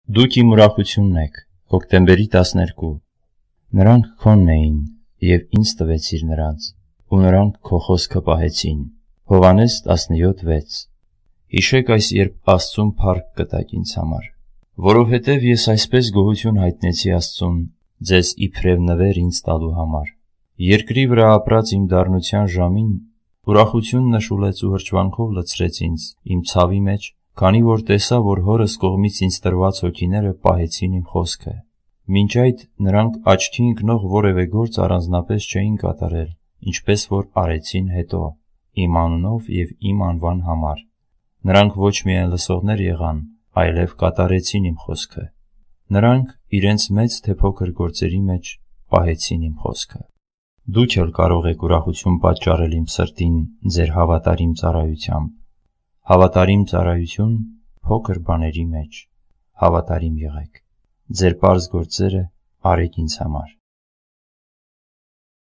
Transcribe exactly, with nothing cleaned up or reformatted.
Դուք իմ ուրախությունն եք, հոկտեմբերի տասներկու, նրանք քոնն էին, և ինձ տվեցիր նրանց, ու նրանք քո խոսքը պահեցին։ Հովհաննես տասնյոթ վեց Հիշեք այս, երբ Աստծուն փառք կտաք ինձ համար, որովհետև ես այսպես գոհություն հայտնեցի Աստծուն, ձեզ իբրև նվեր ինձ տալու համար։ Երկրի վրա ապրած իմ դառնության ժամին ուրախություն նշուլեց ու հրճվանքով լցրեց ինձ իմ ցավի մեջ, քանի որ տեսա, որ հորս կողմից ինձ տրված հոգիները պահեցին իմ խոսքը։ Մինչ այդ նրանք աչքի ընկնող որևէ գործ առանձնապես չէին կատարել, ինչպես որ արեցին հետո, իմ անունով և իմ անվան համար։ Նրանք ոչ միայն լսողներ եղան, այլև կատարեցին իմ խոսքը։ Նրանք իրենց մեծ թե փոքր գործերի մեջ պահեցին իմ խոսքը։ Դուք էլ կարող եք ուրախություն պատճառել իմ սրտին ձեր հավատարիմ ծառայությամբ։ Հավատարիմ ծառայություն փոքր բաների մեջ։ Հավատարիմ եղեք։ Ձեր պարզ գործերը արեք ինձ համար։